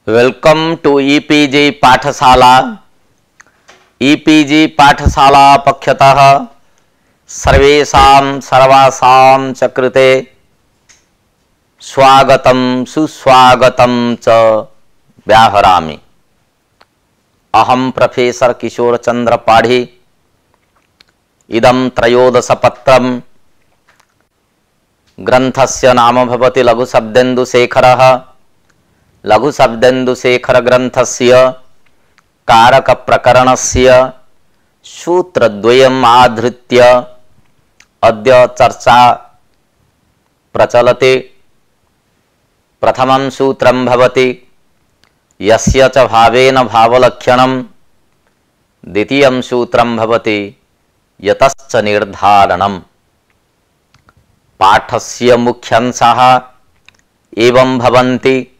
Welcome two e-PG पाठशाला। E-PG पाठशाला पक्षतः सर्वेषां सर्वासां च कृते स्वागतं सुस्वागतं च व्याहरामि। अहं प्रोफेसर किशोर चंद्र पाढ़ी। इदं त्रयोदशपत्रं ग्रंथस्य नाम भवति लघुशब्देन्दुशेखरः। लघुशब्देन्दुशेखर ग्रंथस्य कारक प्रकरणस्य सूत्रद्वयम् आधृत्य अद्य चर्चा प्रचलति। प्रथमं सूत्रं भवति यस्य च भावेन भावलक्षणं। द्वितीयं सूत्रं भवति यतश्च निर्धारणम्। पाठस्य मुख्यांशाः एवं भवन्ति।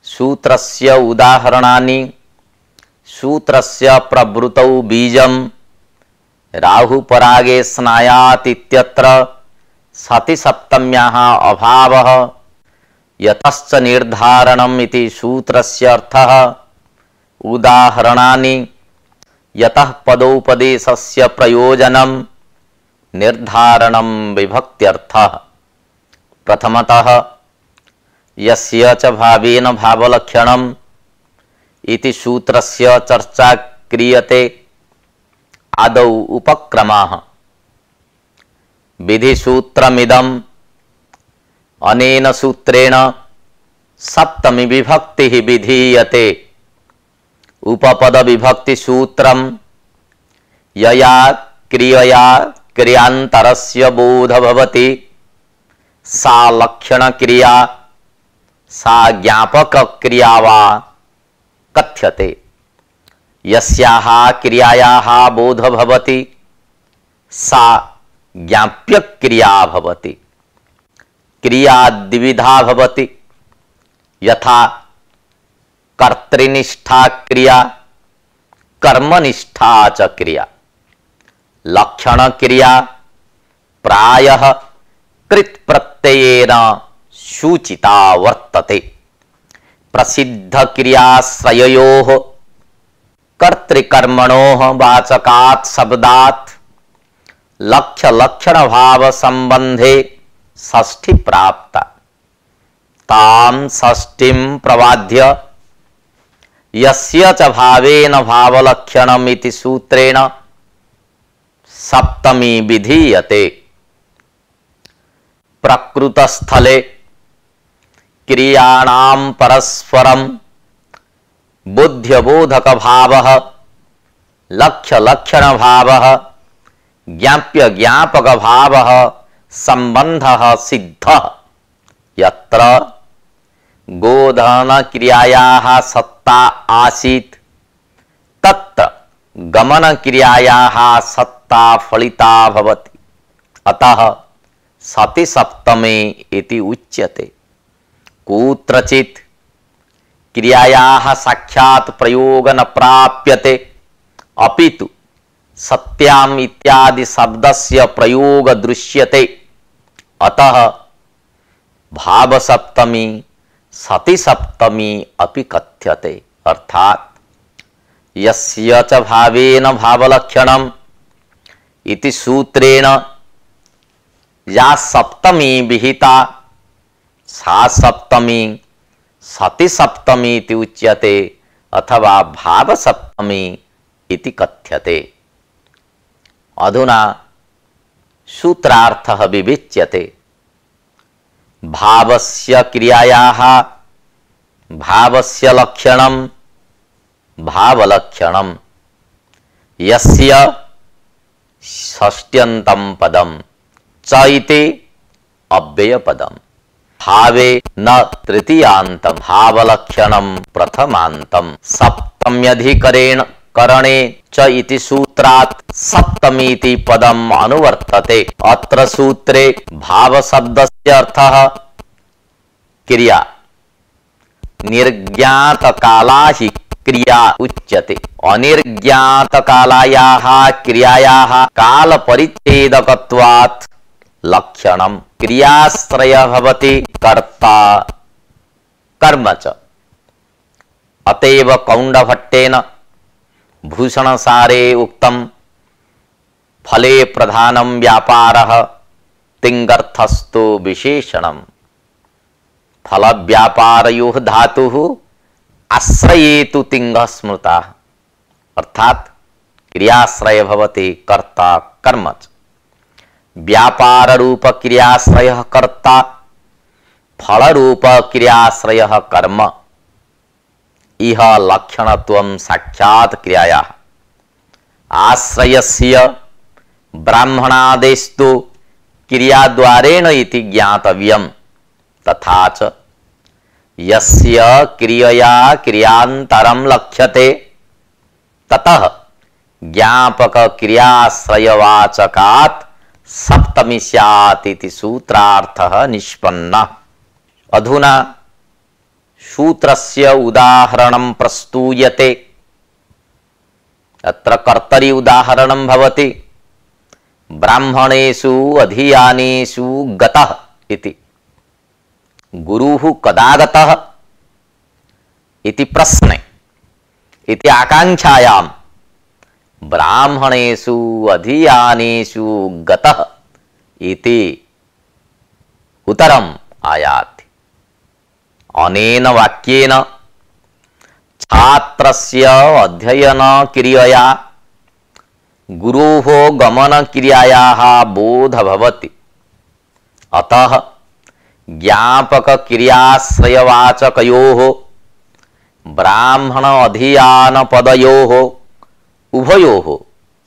सूत्रस्य उदाहरणानि। सूत्रस्य प्रवृतौ बीजं राहुपरागे स्नायात् इत्यत्र सति सप्तम्याः अभावः। यतश्च निर्धारणम् इति सूत्रस्य अर्थः। उदाहरणानि। यतः पदोपदेशस्य प्रयोजनं निर्धारणं विभक्त्यर्थः। प्रथमतः यस्य च भावेन भावलक्षणम् इति सूत्रस्य चर्चा क्रियते। आदौ उपक्रमः। विधिसूत्रमिदम्। अनेन सूत्रेण सप्तमी विभक्तिः विधीयते। उपपद विभक्ति सूत्रम्। यया क्रियया क्रियान्तरस्य बोध भवति सा लक्षण क्रिया सा ज्ञापक क्रिया वा कथ्यते। यस्याः क्रियायाः बोध भवति सा ज्ञाप्य क्रिया भवति। क्रिया द्विविधा भवति। यथा कर्तृनिष्ठा क्रिया कर्मनिष्ठा च क्रिया। लक्षण क्रिया प्रायः कृत् प्रत्ययेन सूचिता वर्तते। प्रसिद्ध क्रियाश्रययोः कर्तृकर्मणोः वाचकात् शब्दात् लक्ष्य लक्षण भाव संबंधे षष्ठी प्राप्ता। तां षष्ठीं प्रवाद्य यस्य च भावेन भावलक्षणम् इति सूत्रेण सप्तमी विधीयते। प्रकृतस्थले क्रियाणां परस्परं बुद्ध्यबोधक भावः लक्ष्य लक्षण भावः ज्ञाप्य ज्ञापक भावः संबंधः सिद्धः। यत्र गोधन क्रियायाः सत्ता आसीत् तत्र गमन क्रियायाः सत्ता फलिता भवति। अतः सति सप्तमी इति उच्यते। कुत्रचित् क्रियायाः साक्षात् प्रयोग न प्राप्यते अपितु सत्याम् इत्यादि शब्दस्य प्रयोग दृश्यते। अतः भाव सप्तमी सति सप्तमी अपि कथ्यते। अर्थात् यस्य च भावेन भावलक्षणम् इति सूत्रेण या सप्तमी विहिता सा सप्तमी सति सप्तमी इति उच्यते अथवा भाव सप्तमी इति कथ्यते। अधुना सूत्रार्थः विविच्यते। भावस्य क्रियायाः भावस्य लक्षणं भावलक्षणं। यस्य षष्ट्यन्तं पदं च इति अव्ययपदम्। भावे न तृतीयान्तं भावलक्षणं प्रथमान्तं। सप्तम्यधिकरेण करणे च इति सूत्रात् सप्तमीति पदम् अनुवर्तते। अत्र सूत्रे भाव शब्दस्य अर्थः क्रिया। निर्ज्ञात काला हि क्रिया उच्यते। अनिर्ज्ञात कालायाः क्रियायाः काल परिच्छेदकत्वात् लक्षणम्। क्रियाश्रय भवति कर्ता कर्म च। अतएव कौंडभट्टेन भूषणसारे उक्तम फले प्रधानम व्यापारः तिंगर्थस्तु विशेषणम। फल व्यापारयोः धातुः आश्रयेतु तिंगः स्मृतः। अर्थात क्रियाश्रय भवति कर्ता कर्म च। व्यापार रूप क्रियाश्रयः कर्ता, फल रूप क्रियाश्रयः कर्म। इह लक्षणत्वं साक्षात् क्रियायाः। आश्रयस्य ब्राह्मणादेस्तु क्रियाद्वारेण इति ज्ञातव्यम्। तथा च यस्य क्रियया क्रियान्तरं लक्ष्यते ततः ज्ञापक क्रियाश्रयवाचकात् सप्तमी स्यात् इति सूत्रार्थः निष्पन्नः। अधुना सूत्रस्य उदाहरणं प्रस्तूयते। अत्र कर्तरि उदाहरणं भवति ब्राह्मणेषु अधियानेषु गतः इति। गुरुः कदा गतः इति प्रश्ने इति आकांक्षायां ब्राह्मणेषु अधियानेषु गतः इति उत्तरम् आयाति। अनेन वाक्येन छात्रस्य अध्ययन क्रियया गुरोः गमन क्रियायाः बोध भवति। अतः ज्ञापक क्रियाश्रयवाचकयोः ब्राह्मण अधियान पदयोः उभयोः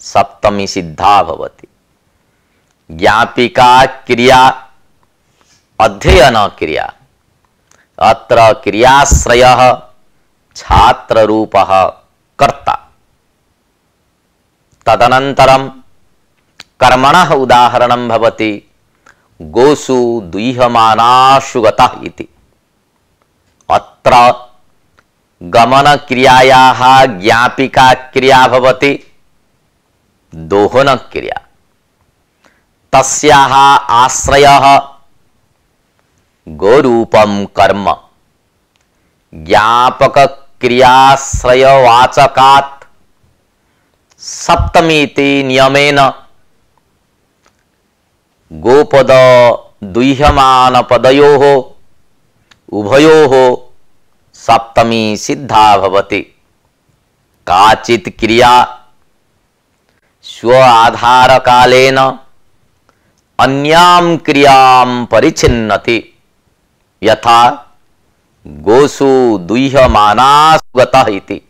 सप्तमी सिद्धा भवति। ज्ञापिका क्रिया अध्ययन क्रिया। अत्र क्रियाश्रयः छात्ररूपः कर्ता। तदनन्तरं कर्मणः उदाहरणं भवति गोषु दुह्यमानाषु गतः इति। अत्र गमन क्रियायाः ज्ञापिका क्रिया भवति दोहन क्रिया। तस्याः आश्रयः गोरूपं कर्म। ज्ञापक क्रियाश्रयवाचकात् सप्तमीति नियमेन गोपद दुह्यमान पदयोः उभयोः सप्तमी सिद्धा भवति। काचित् क्रिया स्व आधार कालेन अन्यां क्रियां परिच्छिन्नति। यथा गोषु दुह्यमानासु गतः इति।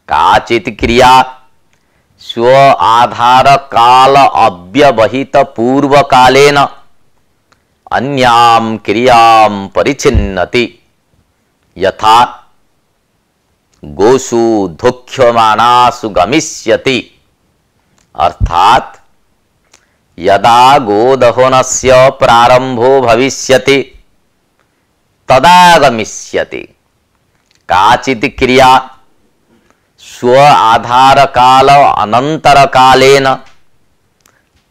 काचित् क्रिया स्व आधार काल अव्यवहित पूर्व कालेन अन्यां क्रियां परिच्छिन्नति। यथा गोषु दुह्यमानासु गमिष्यति। अर्थात यदा गोदहनस्य प्रारंभो भविष्यति तदा गमिष्यति। काचित् क्रिया स्व आधार काल अनंतर कालेन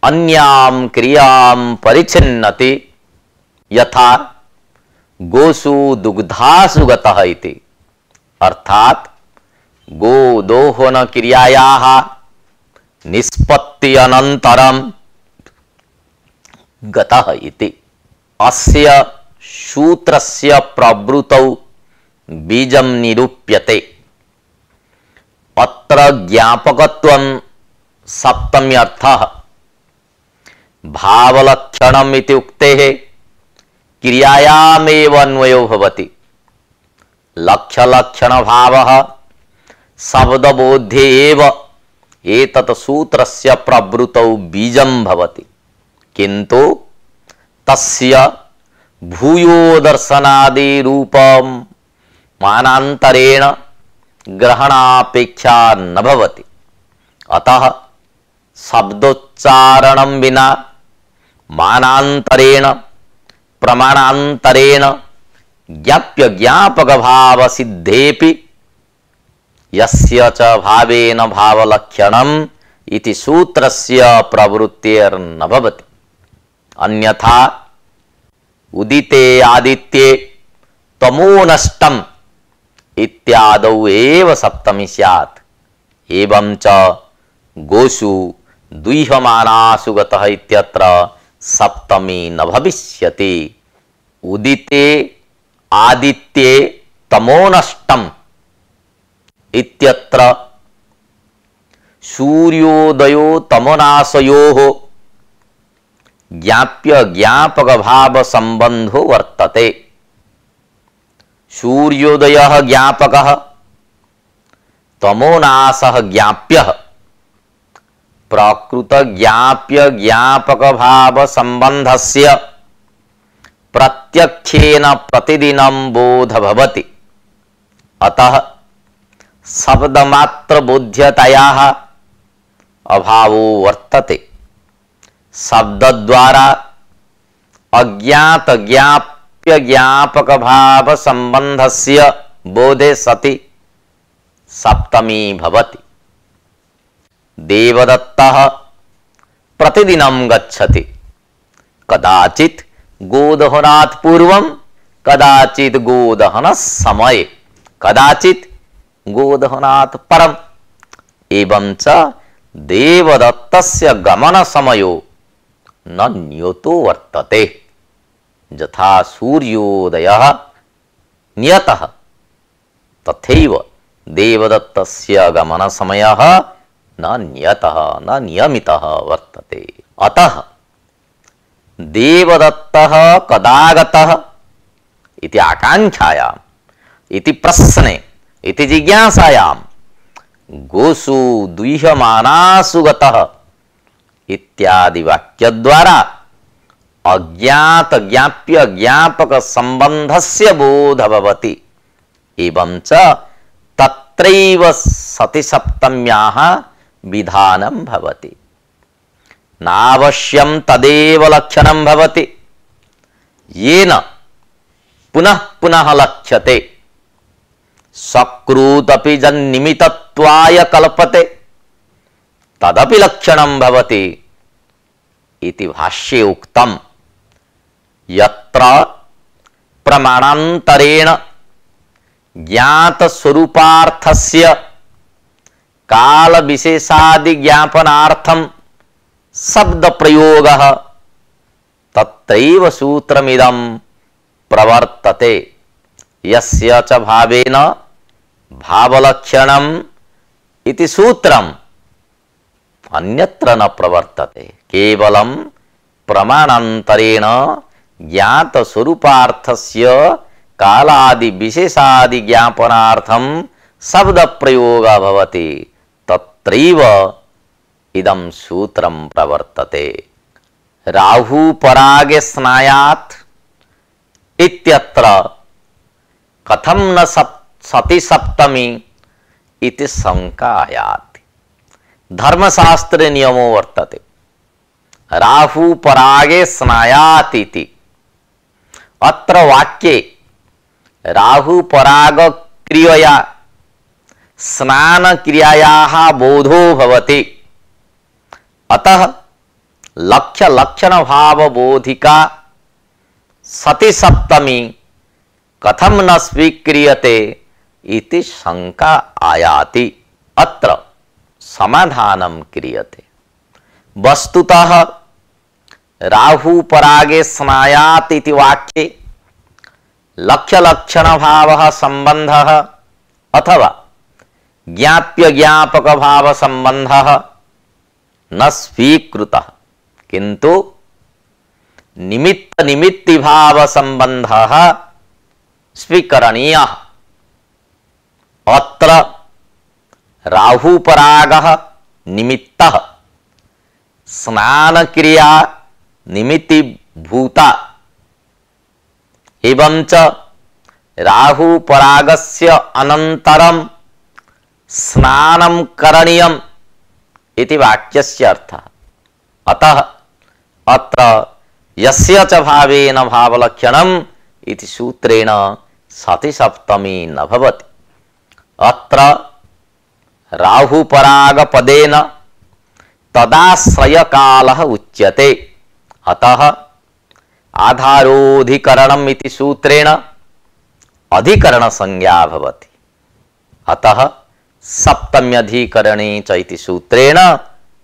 अन्यां क्रियां परिच्छिन्नति। यथा गोषु दुग्धासु गतः इति। अर्थात गोदोहन क्रियायाः निष्पत्ति अनंतरं गतः इति। अस्य सूत्रस्य प्रवृत्तौ बीजं निरूप्यते। अत्र ज्ञापकत्वं सप्तम्यर्थः। भावलक्षणम् इति उक्तेः क्रियायामेव अन्वयो भवति। लक्ष्यलक्षण भावः शब्दबोध्ये एव एतत् सूत्रस्य प्रवृत्तौ बीजं भवति। किन्तु तस्य भूयो दर्शनादि रूपं मानान्तरेण ग्रहणापेक्षा न भवति। अतः शब्दोच्चारणं विना मानान्तरेण प्रमाणान्तरेण ज्ञाप्य ज्ञापक भाव सिद्धेपि यस्य च भावेन भावलक्षणम् इति सूत्रस्य प्रवृत्तिर्न भवति। अन्यथा उदिते आदित्ये तमो नष्टम् इत्यादौ एव सप्तमी स्यात्। एवं च गोषु दुह्यमानासु गतः इत्यत्र सप्तमी न भविष्यति। उदिते आदित्ये तमोनष्टम इत्यत्र सूर्योदयो तमोनाशयोः ज्ञाप्य ज्ञापक भाव संबंधो वर्तते। सूर्योदयः ज्ञापकः, तमोनाशः ज्ञाप्यः। प्रकृत ज्ञाप्य ज्ञापक भाव संबंधस्य प्रत्यक्षेन प्रतिदिनं बोध भवति। अतः शब्दमात्र बोध्यतायाः अभावो वर्तते। शब्द द्वारा अज्ञात ज्ञाप्य ज्ञापक भाव संबंधस्य बोधे सति सप्तमी भवति। देवदत्तः प्रतिदिनं गच्छति, कदाचित् गोदहनात् पूर्वं, कदाचित् गोदहन समये, कदाचित् गोदहनात् परम्। एवं च देवदत्तस्य गमन समयो न नियतो वर्तते। यथा सूर्योदयः नियतः तथैव देवदत्तस्य गमन समयः न नियतः न नियमितः वर्तते। अतः देवदत्तः कदा गतः इति आकांक्षायाम्, इति प्रश्ने, इति जिज्ञासायां गोषु दुह्यमानासु गतः इत्यादि वाक्य द्वारा अज्ञात ज्ञाप्य ज्ञापक संबंधस्य बोध भवति। एवं च तत्रैव सति सप्तम्याः विधानं भवति। नावश्यं तदेव लक्षणं भवति येन पुनः पुनः लक्ष्यते। सकृतपि जन्निमित्तत्वाय कल्पते तदपि लक्षणं भवति इति भाष्ये उक्तम्। यत्र प्रमाणान्तरेण ज्ञात स्वरूपार्थस्य काल विशेषादि ज्ञापनार्थं शब्द प्रयोगः तत्रैव सूत्रमिदं प्रवर्तते। यस्य च भावेन भावलक्षणम् इति सूत्रम् अन्यत्र न प्रवर्तते। केवलं प्रमाणान्तरेण ज्ञात स्वरूपार्थस्य कालादि विशेषादि ज्ञापनार्थं शब्द प्रयोगः भवति, तत्रैव इदं सूत्रं प्रवर्तते। राहु परागे स्नायात् इत्यत्र कथं न सति सप्तमी इति शंका आयाति। धर्मशास्त्रे नियमो वर्तते राहु परागे स्नायात् इति। अत्र वाक्ये राहु पराग क्रियया स्नान क्रियायाः बोधो भवति। अतः लक्ष्य लक्षण भाव बोधिका सति सप्तमी कथम न स्वीक्रियते इति शंका आयाति। अत्र समाधानं क्रियते। वस्तुतः राहु परागे स्नायात् इति वाक्ये लक्ष्य लक्षण भावः संबंधः अथवा ज्ञाप्य ज्ञापक भाव संबंधः न स्वीकृतः, किंतु निमित्त निमित्ति भाव संबंधः स्वीकरणीयः। अत्र राहु परागः निमित्तः, स्नान क्रिया निमित्ति भूता। एवं च राहु परागस्य अनन्तरं स्नानं करणीयम् इति वाक्यस्य अर्थः। अतः अत्र यस्य च भावेन भावलक्षणम् इति सूत्रेण सति सप्तमी न भवति। अत्र राहु पराग पदेन तदाश्रय कालः उच्यते। अतः आधारोधिकरणम् इति सूत्रेण अधिकरण संज्ञा भवति। अतः सप्तम्यधिकरणे च इति सूत्रेण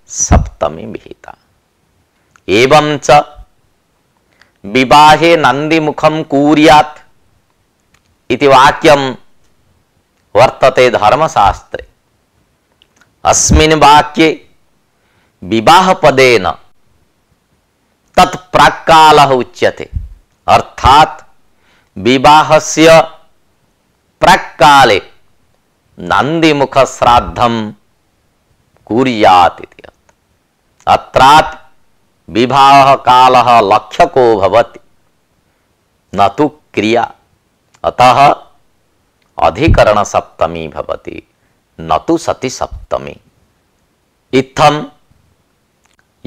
सप्तमी विहिता। एवं च विवाहे नन्दिमुखं कुर्यात् इति वाक्यं वर्तते धर्मशास्त्रे। अस्मिन् वाक्ये विवाहपदेन तत् प्राक्कालः उच्यते, अर्थात् विवाहस्य प्राक्काले नन्दिमुख श्राद्धं कुर्यात् इति। अत्रात् विवाह कालः लक्ष्यको भवति, न तु क्रिया। अतः अधिकरण सप्तमी भवति, न तु सति सप्तमी। इत्थं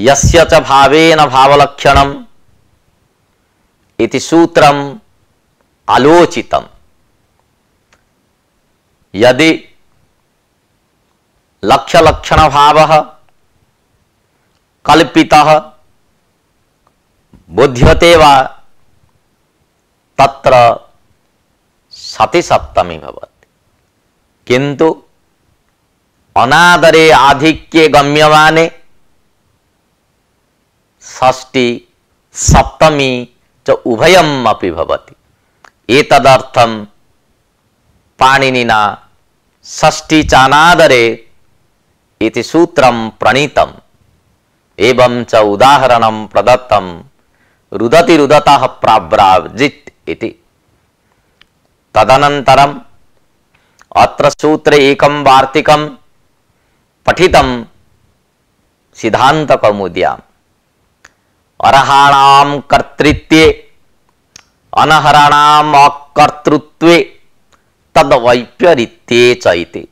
यस्य च भावेन भावलक्षणम् इति सूत्रम् आलोचितम्। यदि लक्ष्य-लक्षण भावः कल्पितः बुध्यते वा तत्र सति सप्तमी भवति। किन्तु अनादरे आधिक्ये गम्यमाने षष्ठी सप्तमी च उभयम् अपि भवति। एतदर्थं पाणिनिना षष्ठी चानादरे इति सूत्रं प्रणीतम्। एवं च उदाहरणं प्रदत्तं रुदति रुदतः प्राव्राजित् इति। तदनन्तरम् अत्र सूत्रे एकं वार्तिकं पठितं सिद्धान्तकौमुद्याम्। अर्हाणां कर्तृत्वे अनहराणाम् अकर्तृत्वे तद्वैपरीत्ये च इति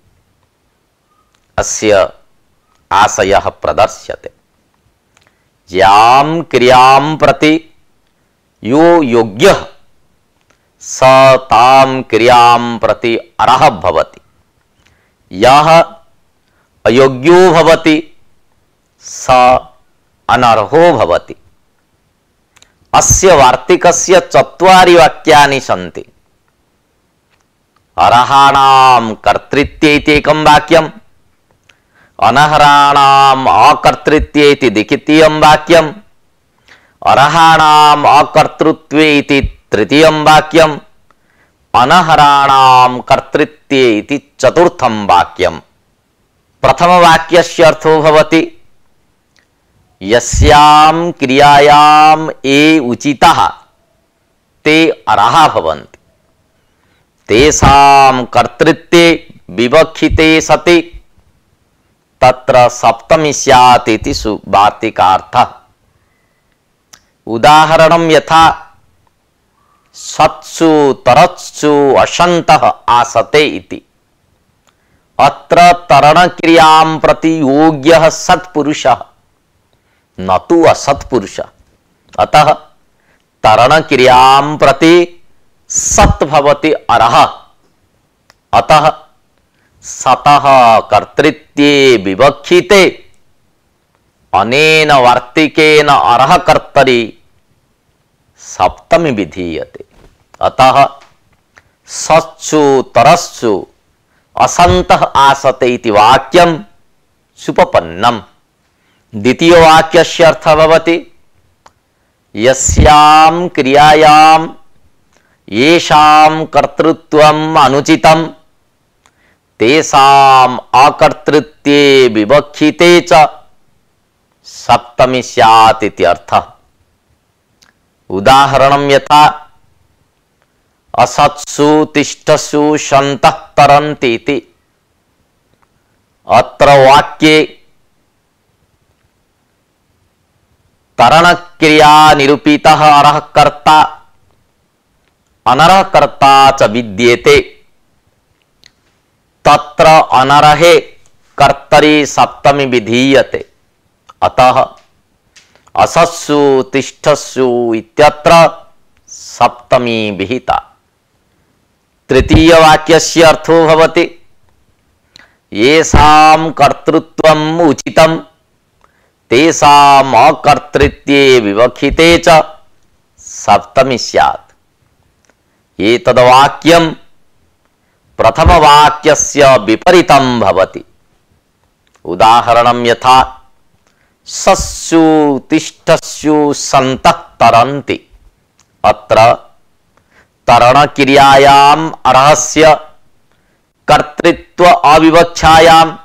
अस्य आशयः प्रदर्श्यते। यां क्रियां प्रति यो योग्यः स तां क्रियां प्रति अर्हः भवति। यः अयोग्यो भवति स अनर्हो भवति। अस्य वार्तिकस्य चत्वारि वाक्यानि सन्ति। अर्हाणां कर्तृत्वे इति एकं वाक्यम्, अनर्हाणाम् अकर्तृत्वे इति द्वितीयं वाक्यम्, अर्हाणाम् अकर्तृत्वे इति तृतीयं वाक्यम्, अनर्हाणां कर्तृत्वे इति चतुर्थं वाक्यम्। प्रथमवाक्यस्य अर्थो भवति यस्यां क्रियायां ये उचिताः ते अर्हाः भवन्ति, तेषां कर्तृत्वे विवक्षिते सति तत्र सप्तमी स्यात् इति वार्तिकार्थः। उदाहरणं यथा सत्सु तरत्सु असन्तः आसते इति। अत्र तरणक्रियां प्रति योग्यः सत्पुरुषः न तु असत्पुरुषः। अतः तरणक्रियां प्रति सत् भवति अर्हः। अतः सतः कर्तृत्वे विवक्षिते अनेन वार्तिकेन अर्हः कर्तरि सप्तमी विधीयते। अतः सत्सु तरस्सु असन्तः आसते इति वाक्यं सुपपन्नम्। द्वितीयवाक्यस्य अर्थः भवति यस्यां क्रियायां येषां कर्तृत्वम् अनुचितं तेषाम् अकर्तृत्वे विवक्षिते च सप्तमी स्यात् इति अर्थः। उदाहरणं यथा असत्सु तिष्ठसु सन्तः तरन्ति इति। अत्र वाक्ये तरणक्रिया निरूपितः अर्हः कर्ता अनर्हः कर्ता च विद्येते। तत्र अनर्हे कर्तरि सप्तमी विधीयते। अतः असत्सु तिष्ठसु इत्यत्र सप्तमी विहिता। तृतीयवाक्यस्य अर्थो भवति येषां कर्तृत्वम् उचितं तेषाम् अकर्तृत्वे विवक्षिते च सप्तमी स्यात्। एतद्वाक्यं प्रथमवाक्यस्य विपरीतं भवति। उदाहरणं यथा सस्सु तिष्ठस्सु सन्तः तरन्ति। अत्र तरणक्रियायाम् अर्हस्य कर्तृत्व अविवक्षायाम्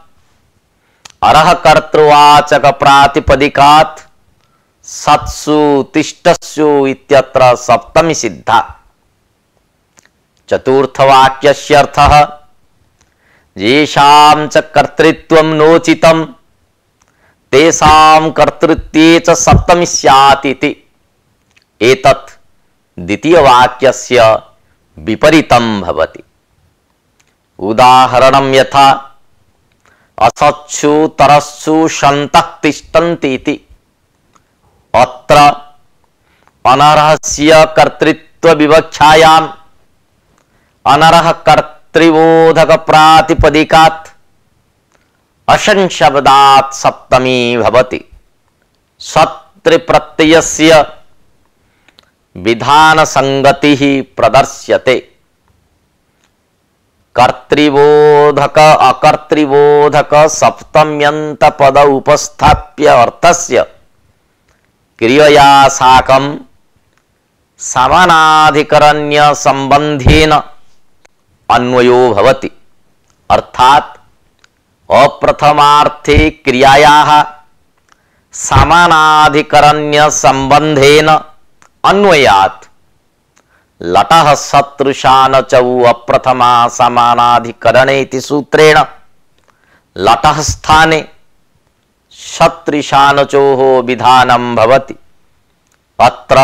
अर्ह कर्तृवाचक प्रातिपदिकात् सत्सु तिष्ठस्सु इत्यत्र सप्तमी सिद्धा। चतुर्थवाक्यस्य अर्थः येषां च कर्तृत्वं नोचितं तेषां कर्तृत्वे च सप्तमी स्यात् इति। एतत् द्वितीयवाक्यस्य विपरीतं भवति। उदाहरणं यथा असत्सु तरस्सु सन्तः तिष्ठन्ति इति। अत्र अनर्हस्य कर्तृत्व विवक्षायाम् अनर्ह कर्तृबोधक प्रातिपदिकात् अशन् शब्दात् सप्तमी भवति। सत्र प्रत्ययस्य विधान संगतिः प्रदर्श्यते। कर्तृबोधक अकर्तृबोधक सप्तम्यन्त पद उपस्थाप्य अर्थस्य क्रियया साकं समानाधिकरण्य संबंधेन अन्वयो भवति। अर्थात अप्रथमार्थे क्रियायाः समानाधिकरण्य संबंधेन अन्वयात् लटः शत्रुशान चौ अप्रथमा समानाधिकरणे इति सूत्रेण लटः स्थाने शत्रुशानचोः विधानं भवति। अत्र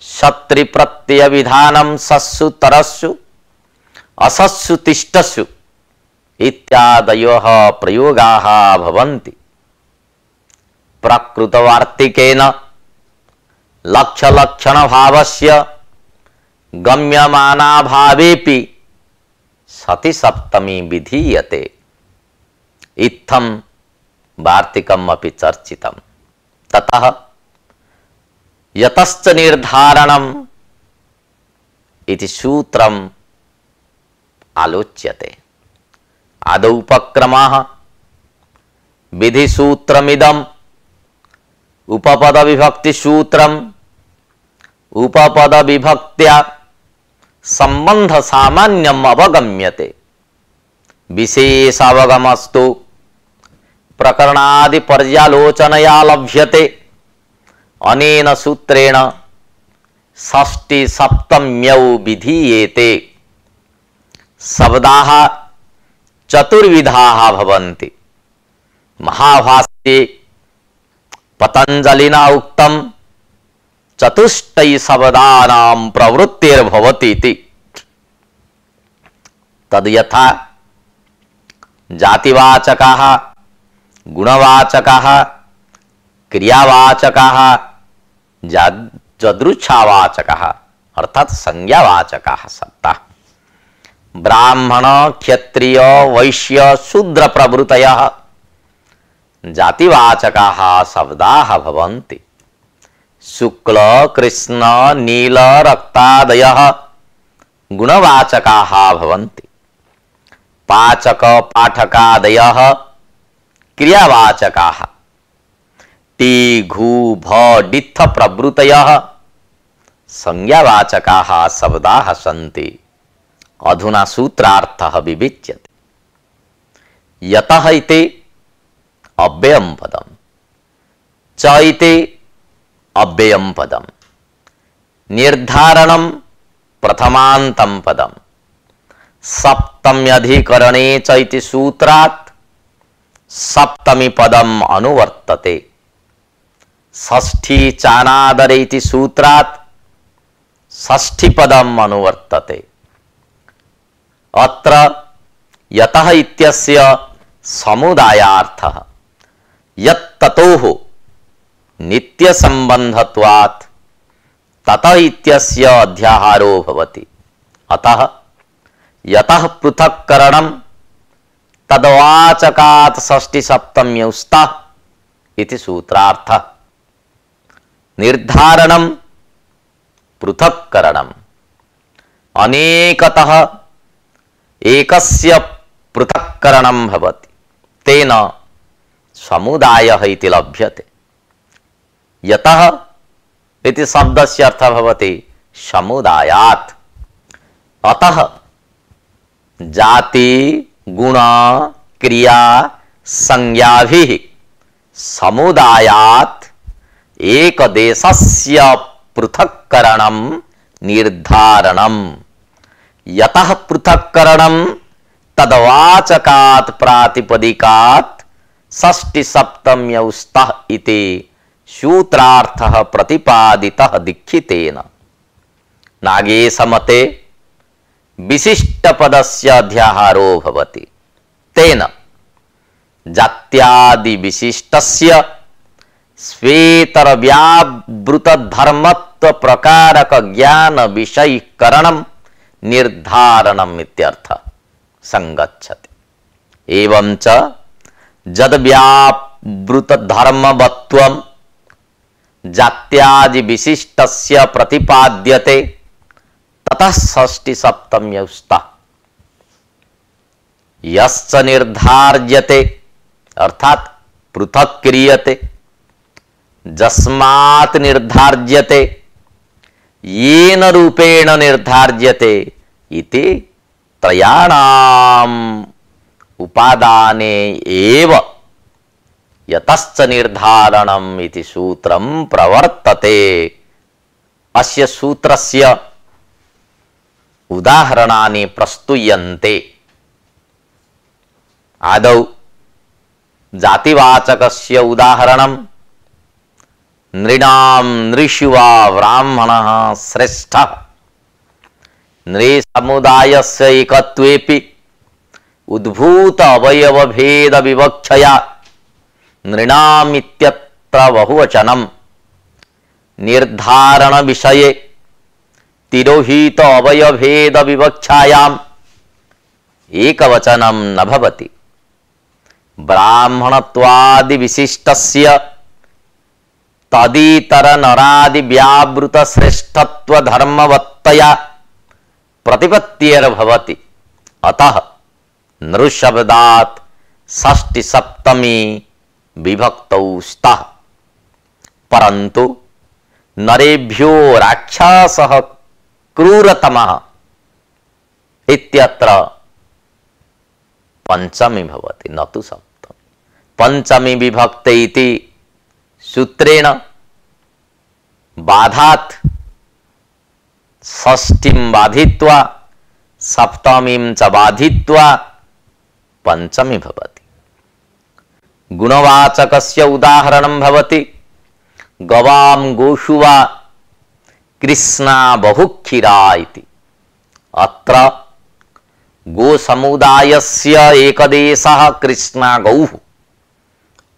शत्रि प्रत्यय विधानं सस्सु तरस्सु असस्सु तिष्ठस्सु इत्यादयः प्रयोगाः भवन्ति। प्रकृतवार्तिकेन लक्ष्यलक्षण भावस्य गम्यमानाभावेपि सति सप्तमी विधीयते। इत्थं वार्तिकम् अपि चर्चितं। ततः यतश्च निर्धारणम् इति सूत्रम् आलोच्यते। आदौ उपक्रमः विधिसूत्रमिदम् उपपद विभक्ति सूत्रम् उपपद विभक्त्या संबंध सामान्यम् अवगम्यते। विशेष अवगमस्तु प्रकरणादि पर्यालोचनया लभ्यते। अनेन सूत्रेण षष्ठी सप्तम्यौ विधीयेते। शब्दाः चतुर्विधाः भवन्ति। महाभाष्ये पतंजलिना उक्तं चतुष्टय शब्दानां प्रवृत्तिर्भवति इति। तद् यथा जातिवाचकाः, गुणवाचकाः, क्रियावाचकाः, जदृच्छावाचकाः अर्थात संज्ञावाचकाः शब्दाः। ब्राह्मण क्षत्रिय वैश्य शूद्र प्रभृतयः जातिवाचकाः शब्दाः भवन्ति। शुक्ल कृष्ण नील रक्तादयः गुणवाचकाः भवन्ति। पाचक पाठकादयः क्रियावाचकाः। टी घू भ डित्थ प्रभृतयः संज्ञावाचकाः शब्दाः सन्ति। अधुना सूत्रार्थः विविच्यते। यतः इति अव्ययं पदम्, च इति अव्ययं पदम्, निर्धारणं प्रथमान्तं पदम्, सप्तम्यधिकरणे च इति सूत्रात् सप्तमी पदम् अनुवर्तते। षष्ठी चानादरे इति सूत्रात् षष्ठी पदम् अनुवर्तते। अत्र यतः इत्यस्य समुदायार्थः यत्ततोः नित्य संबंधत्वात् ततः इत्यस्य अध्याहारो भवति। अतः यतः पृथक्करणं तद्वाचकात् षष्ठी सप्तम्यौ स्तः इति सूत्रार्थः। निर्धारणं पृथक्करणम् अनेकतः एकस्य पृथक्करणं भवति, तेन समुदायः इति लभ्यते। यतः इति शब्दस्य अर्थः भवति समुदायात्। अतः जाति गुण क्रिया संज्ञाभिः समुदायात् एकदेशस्य पृथक्करणं निर्धारणं। यतः पृथक्करणं तद्वाचकात् प्रातिपदिकात् षष्ठी सप्तम्यौ स्तः इति सूत्रार्थः प्रतिपादितः दीक्षितेन। नागेशमते विशिष्टपदस्य अध्याहारो भवति। तेन जात्यादि विशिष्टस्य स्वेतरव्यावृतधर्मत्व प्रकारक ज्ञान विषयीकरणं निर्धारणम् इत्यर्थः संगच्छति। एवं च यद्व्यावृतधर्मवत्वं जात्यादि विशिष्टस्य प्रतिपाद्यते ततः षष्ठी सप्तम्यौ स्तः। यश्च निर्धार्यते अर्थात पृथक् क्रियते, जस्मात् निर्धार्यते, येन रूपेण निर्धार्यते इति त्रयाणाम् उपादाने एव यतश्च निर्धारणम् इति सूत्रं प्रवर्तते। अस्य सूत्रस्य उदाहरणानि प्रस्तूयन्ते। आदौ जातिवाचकस्य उदाहरणं नृणां नृषु वा ब्राह्मणः श्रेष्ठः। नृसमुदायस्य एकत्वेपि उद्भूत अवयवभेद विवक्षया नृणाम् इत्यत्र बहुवचनं। निर्धारण विषये तिरोहित अवयवभेद विवक्षायाम् एकवचनं न भवति। ब्राह्मणत्वादि विशिष्टस्य तदितर नरादि व्यावृत श्रेष्ठत्व धर्मवत्तया प्रतिपत्तिर्भवति। अतः नृशब्दात् षष्ठी सप्तमी विभक्तौ स्तः। परन्तु नरेभ्यो राक्षसः क्रूरतमः इत्यत्र पंचमी भवति, न तु सप्तमी। पंचमी विभक्ते इति सूत्रेण बाधात् षष्ठीं बाधित्वा सप्तमीं च बाधित्वा पंचमी भवति। गुणवाचकस्य उदाहरणं भवति गवां गोषु वा कृष्णा बहुक्षीरा इति। अत्र गोसमुदायस्य एकदेशः कृष्णा गौः।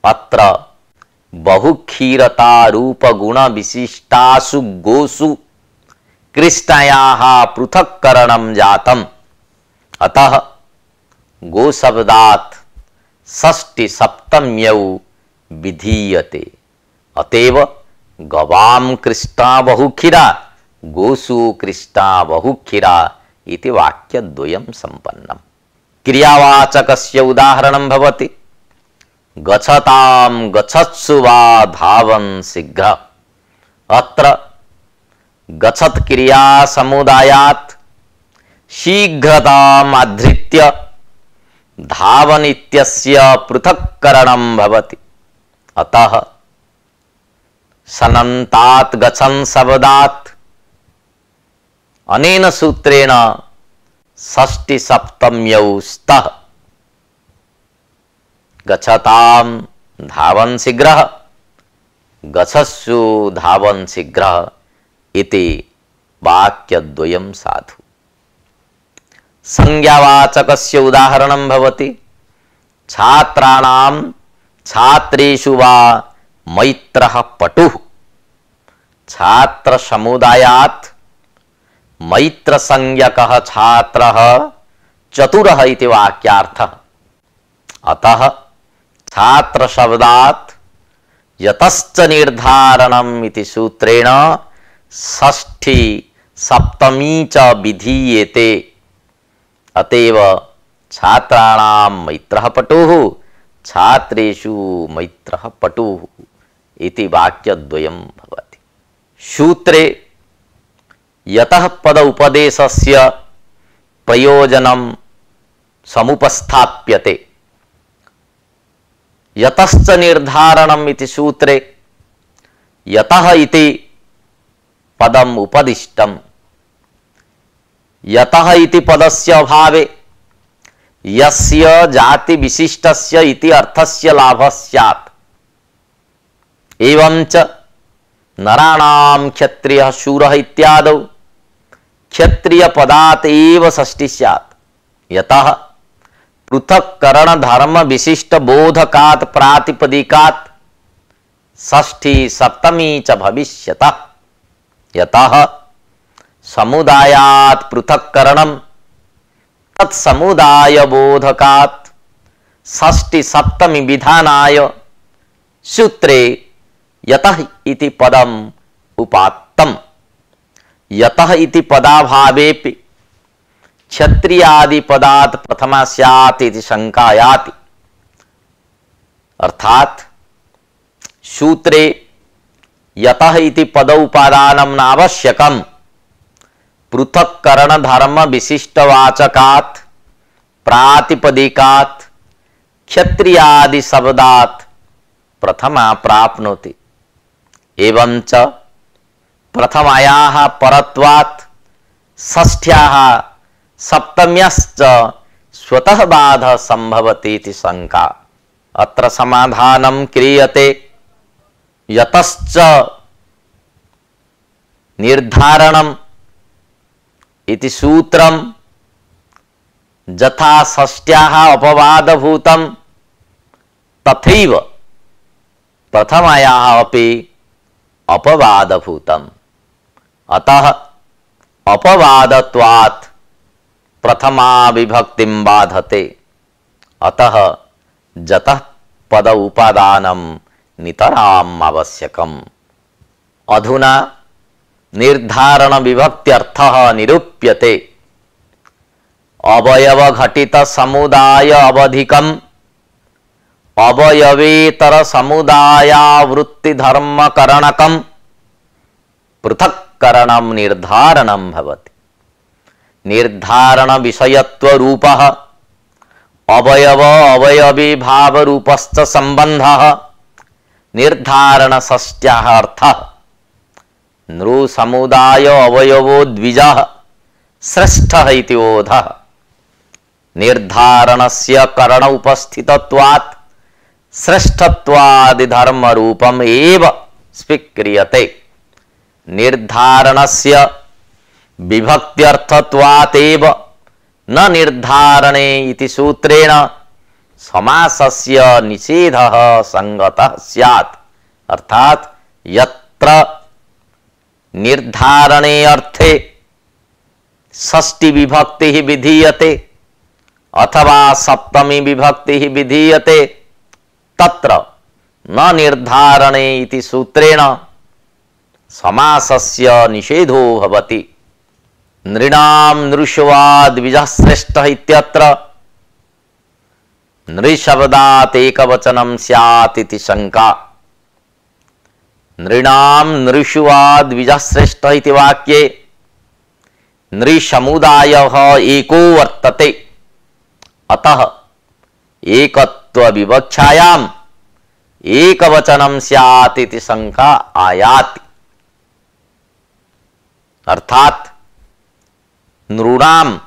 अत्र बहुक्षीरता रूप गुण विशिष्टासु गोसु कृष्णायाः पृथक्करणं जातम्। अतः गोशब्दात् षष्ठी सप्तम्यौ विधीयते। अतएव गवां कृष्णा बहुक्षीरा गोसु कृष्णा बहुक्षीरा इति वाक्यद्वयं सम्पन्नम्। क्रियावाचकस्य उदाहरणं भवति गच्छतां गच्छत्सु वा धावन् शीघ्रः। अत्र गच्छत् क्रिया समुदायात् शीघ्रताम् आधृत्य धावन् इत्यस्य पृथक्करणं भवति। अतः सनन्तात् गच्छन् शब्दात् अनेन सूत्रेण षष्ठी सप्तम्यौ स्तः। गच्छतां धावन् शीघ्रः, गच्छत्सु धावन् शीघ्रः इति वाक्यद्वयं साधु। संज्ञावाचकस्य उदाहरणं भवति छात्राणां छात्रेषु वा मैत्रः पटुः। छात्र समुदायात् मैत्र संज्ञकः छात्रः चतुरः इति वाक्यार्थः। अतः छात्र शब्दात् यतश्च निर्धारणम् इति सूत्रेण षष्ठी सप्तमी च विधीयते। अतएव छात्राणां मैत्रः पटुः छात्रेषु मैत्रः पटुः इति वाक्यद्वयं भवति। सूत्रे यतः पद उपदेशस्य प्रयोजनं समुपस्थाप्यते यतश्च निर्धारणम् इति सूत्रे यतः इति पदम् उपदिष्टम्। यतः इति पदस्य अभावे यस्य जाति विशिष्टस्य इति अर्थस्य लाभः स्यात्। एवंच नराणां क्षत्रियः शूरः इत्यादौ क्षत्रिय पदात् एव षष्ठी स्यात्। यतः पृथक्करण धर्म विशिष्ट बोधकात् प्रातिपदिकात् षष्ठी सप्तमी च भविष्यतः। यतः समुदायात् पृथक्करणं तत्समुदाय बोधकात् षष्ठी सप्तमी विधानाय सूत्रे यतः इति पदम् उपात्तम्। यतः इति पदाभावेपि क्षत्रियादि पदात् प्रथमा स्यात् इति शंका याति। अर्थात सूत्रे यतः इति पद उपादानं नावश्यकम् पृथक्करण धर्म विशिष्टवाचकात् प्रातिपदिकात् क्षत्रियादि शब्दात् प्रथमा प्राप्नोति। एवंच प्रथमायाः परत्वात् षष्ठ्याः सप्तम्यश्च स्वतः बाधः संभवति इति शंका। अत्र समाधानं क्रियते यतश्च निर्धारणम् इति सूत्रं यथा षष्ठ्याः अपवादभूतं तथैव प्रथमायाः अपि अपवादभूतम्। अतः अपवादत्वात् प्रथमा विभक्तिं बाधते। अतः जतः पद उपादानं नितराम् आवश्यकम्। अधुना निर्धारण विभक्त्यर्थः निरूप्यते। अवयव घटित समुदाय अवधिकम् अवयवेतर समुदायावृत्ति धर्म करणकम् पृथक्करणं निर्धारणं भवति। निर्धारण विषयत्व रूपः अवयव अवयवी भाव रूपश्च संबंधः निर्धारण षष्ट्याः अर्थः। नृ समुदाय अवयवो द्विजः श्रेष्ठः इति बोधः। निर्धारणस्य करण उपस्थितत्वात् श्रेष्ठत्वादि धर्म रूपम् एव स्वीक्रियते। निर्धारणस्य विभक्त्यर्थत्वात् एव न निर्धारणे इति सूत्रेण समासस्य निषेधः संगतः स्यात्। अर्थात यत्र निर्धारणे अर्थे षष्ठी विभक्ति विधीयते अथवा सप्तमी विभक्ति विधीयते तत्र न निर्धारणे इति सूत्रेण समासस्य निषेधो भवति। नृणां नृषवा द्विजः श्रेष्ठः इत्यत्र नृशब्दात् एकवचनं स्यात् इति शंका। नृणां नृषवा द्विजः श्रेष्ठः इति वाक्ये नृसमुदायः एको वर्तते। अतः एकत्व विवक्षायाम् एकवचनं स्यात् इति शंका आयाति। अर्थात नृणां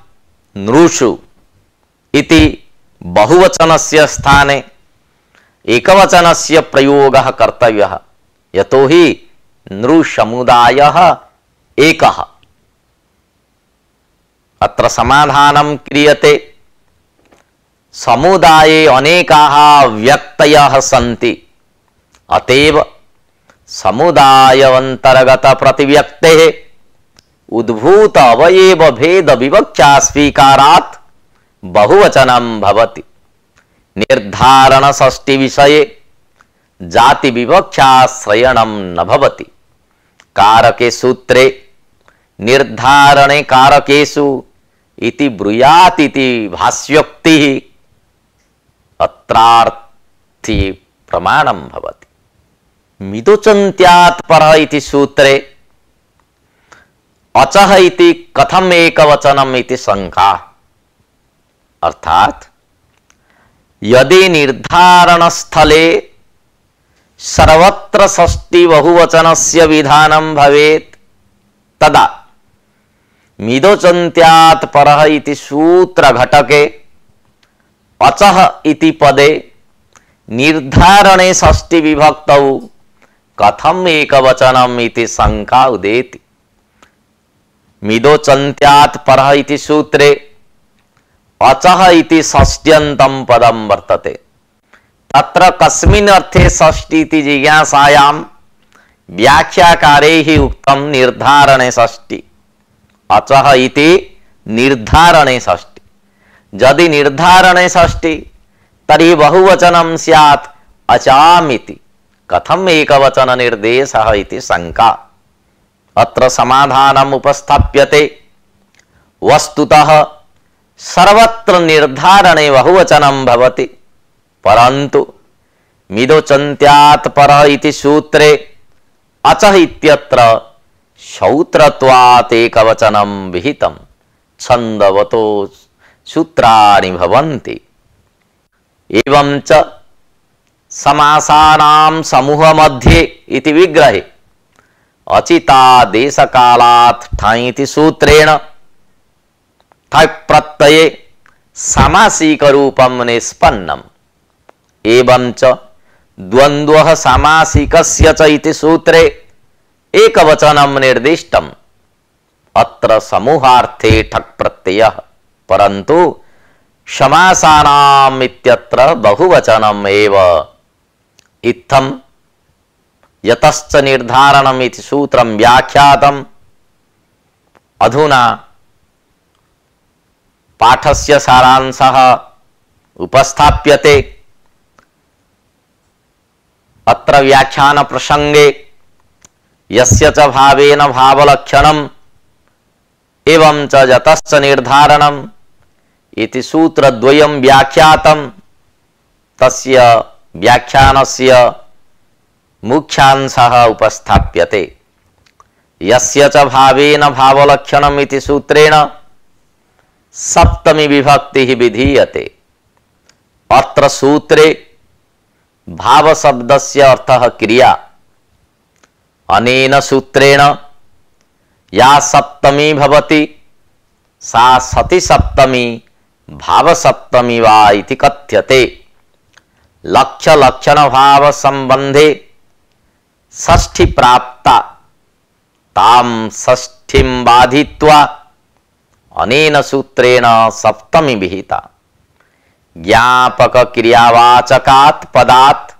नृषु इति बहुवचनस्य स्थाने एकवचनस्य प्रयोगः कर्तव्यः। यतोहि नृसमुदायः एकः। अत्र समाधानं क्रियते। समुदाये अनेकाः व्यक्तयः सन्ति। अतएव समुदायान्तर्गत प्रतिव्यक्तेः उद्भूत अवयव भेद विवक्षा स्वीकारात् बहुवचनं भवति। निर्धारण षष्ठी विषये जाति विवक्षाश्रयणं न भवति। कारके सूत्रे निर्धारणे कारकेषु इति ब्रूयात् इति भाष्योक्तिः अत्रार्थी प्रमाणं भवति। मिदुचन्त्यात् परः इति सूत्रे अचः इति कथम् एकवचनम् इति शंका। अर्थात यदि निर्धारणस्थले सर्वत्र षष्ठी बहुवचनस्य विधानं भवेत् तदा मिदोचन्त्यात् परः इति सूत्रघटके अचः इति पदे निर्धारणे षष्ठी विभक्तौ कथम् एकवचनम् इति शंका उदेति। मिदोचन्त्यात् परः इति सूत्रे अचः इति षष्ट्यन्तं पदं वर्तते। तत्र कस्मिन् अर्थे षष्ठी इति जिज्ञासायां व्याख्याकारैः उक्तं निर्धारणे षष्ठी, अचः इति निर्धारणे षष्ठी। यदि निर्धारणे षष्ठी तर्हि बहुवचनं स्यात् अचामिति, कथम् एकवचन निर्देशः इति शंका। अत्र समाधानम् उपस्थाप्यते। वस्तुतः सर्वत्र निर्धारणे बहुवचनं भवति, परन्तु मिदोचन्त्यात् परः इति सूत्रे अचः इत्यत्र श्रौत्रत्वात् एकवचनं विहितं। छन्दवतो सूत्राणि भवन्ति। एवं च समासानां समूहमध्ये इति विग्रहे अचितादेशकालात् ठञ् इति सूत्रेण ठक् प्रत्यये सामासिकरूपं निष्पन्नम्। एवं च द्वन्द्वः सामासिकस्य च इति सूत्रे एकवचनं निर्दिष्टम्। अत्र समूहार्थे ठक् प्रत्ययः, परन्तु समासानाम् इत्यत्र बहुवचनम् एव। इत्थं यतश्च निर्धारणम् इति सूत्रं व्याख्यातम्। अधुना पाठस्य सारांशः उपस्थाप्यते। अत्र व्याख्यान प्रसंगे यस्य च भावेन भावलक्षणम् एवं च यतश्च निर्धारणम् इति सूत्रद्वयं व्याख्यातं। तस्य व्याख्यानस्य मुख्यांशः उपस्थाप्यते। यस्य च भावेन भावलक्षणम् इति सूत्रेण सप्तमी विभक्तिः विधीयते। अत्र सूत्रे भाव शब्दस्य अर्थः क्रिया। अनेन सूत्रेण या सप्तमी भवति सा सति सप्तमी भाव सप्तमी वा इति कथ्यते। लक्ष्य लक्षण भाव संबंधे षष्ठी प्राप्ता ताम षष्ठीं बाधित्वा अनेन सूत्रेण सप्तमी विहिता। ज्ञापक क्रियावाचकात् पदात्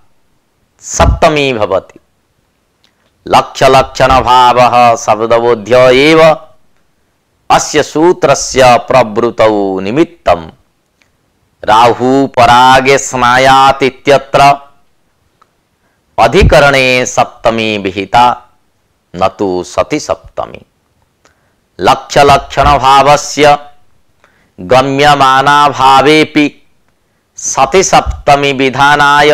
सप्तमी भवति। लक्ष्य लक्षण भावः शब्दबोध्य एव अस्य सूत्रस्य प्रवृतौ निमित्तं। राहु परागे स्नायात् इत्यत्र अधिकरणे सप्तमी विहिता, न तु सति सप्तमी। लक्ष्य लक्षण भावस्य गम्यमाना भावेपि सति सप्तमी विधानाय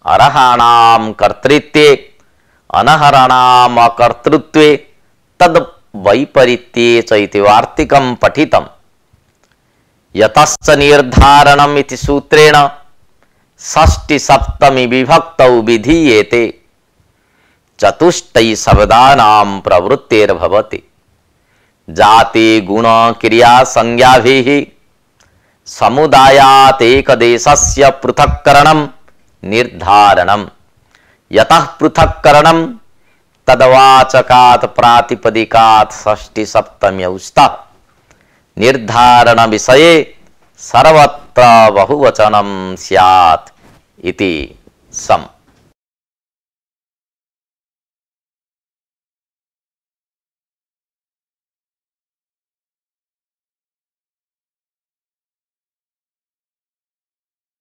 अरहाणां कर्तृत्वे अनहराणाम् अकर्तृत्वे तद् वैपरीत्ये च इति वार्तिकं पठितम्। यतश्च निर्धारणम् इति सूत्रेण षष्ठी सप्तमी विभक्तौ विधीयेते। चतुष्टै शब्दानां प्रवृत्तिर्भवति। जाति गुण क्रिया संज्ञाभिः समुदायात् एकदेशस्य पृथक्करणं निर्धारणम्। यतः पृथक्करणं तद्वाचकात् प्रातिपदिकात् षष्ठी सप्तम्यौ स्तः। निर्धारण विषये सर्वत्र बहुवचनं स्यात् इति सम्।